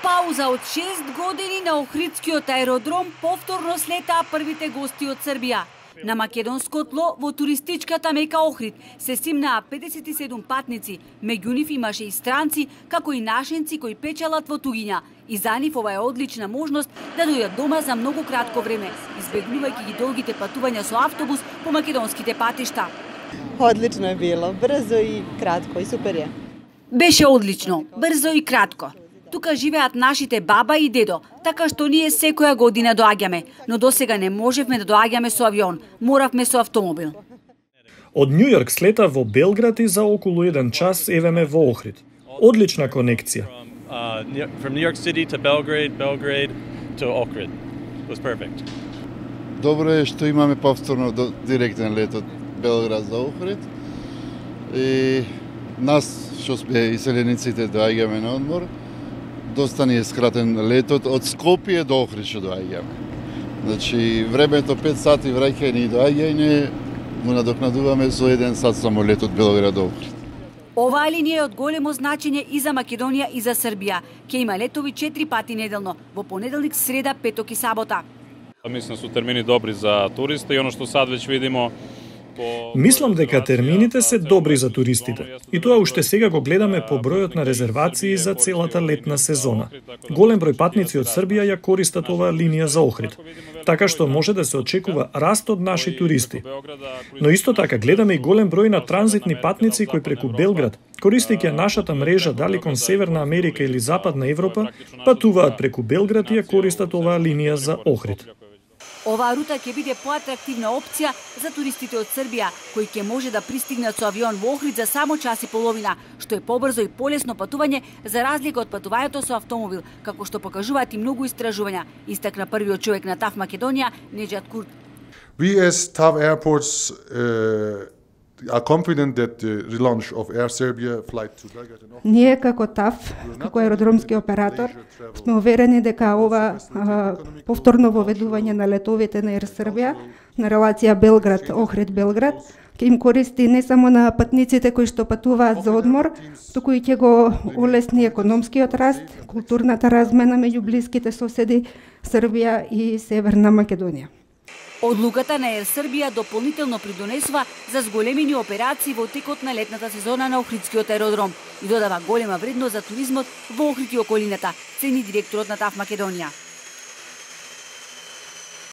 пауза од 6 години на Охридскиот аеродром повторно слетаа првите гости од Србија. На македонско тло во туристичката мека Охрид се симнаа 57 патници, меѓу нив имаше и странци, како и нашенци кои печелат во туѓиња. И за нив ова е одлична можност да дојдат дома за многу кратко време, избегнувајќи ги долгите патувања со автобус по македонските патишта. Одлично е било, брзо и кратко и супер е. Беше одлично, брзо и кратко. Тука живеат нашите баба и дедо, така што ние секоја година доаѓаме, но досега не можевме да доаѓаме со авион, моравме со автомобил. Од Њу Јорк слета во Белград и за околу 1 час евеме во Охрид. Одлична конекција. From New York City to Belgrade to Ohrid. It was perfect. Добро е што имаме повторно директен лет од Белград за Охрид. И нас што сме иселениците доаѓаме на одмор. Доста ни е скратен летот од Скопје до Охрид што доаѓаме. Значи времето 5 сати враќање и доаѓање му надокнадуваме со 1 сат само лет од Белград до Охрид. Оваа линија е од големо значење и за Македонија и за Србија. Ќе има летови 4 пати неделно, во понеделник, среда, петок и сабота. Мислам се термини добри за туристи и оно што сад веќе видимо. Мислам дека термините се добри за туристите. И тоа уште сега го гледаме по бројот на резервации за целата летна сезона. Голем број патници од Србија ја користат оваа линија за Охрид, така што може да се очекува раст од наши туристи. Но исто така гледаме и голем број на транзитни патници кои преку Белград, користејќи нашата мрежа дали кон Северна Америка или Западна Европа, патуваат преку Белград и ја користат оваа линија за Охрид. Оваа рута ќе биде поатрактивна опција за туристите од Србија, кои ќе може да пристигнат со авион во Охрид за само час и половина, што е побрзо и полесно патување за разлика од патувањето со автомобил, како што покажуваат и многу истражувања, истакна првиот човек на ТАФ Македонија, Неџат Курт. We as TAV Airports are confident that the relaunch of Air Serbia flight to Belgrade and Ohrid. Ние како ТАФ, како аеродромски оператор, сме уверени дека ова повторно воведување на летовите на Air Serbia на релација Белград-Охрид-Белград ќе им користи не само на патниците кои што патуваат за одмор, туку и ќе го улесни економскиот раст, културната размена меѓу блиските соседи Србија и Северна Македонија. Одлуката на Air Serbia дополнително придонесува за зголемени операции во текот на летната сезона на Охридскиот аеродром и додава голема вредност за туризмот во Охрид и околината, цени директорот на ТАФ Македонија.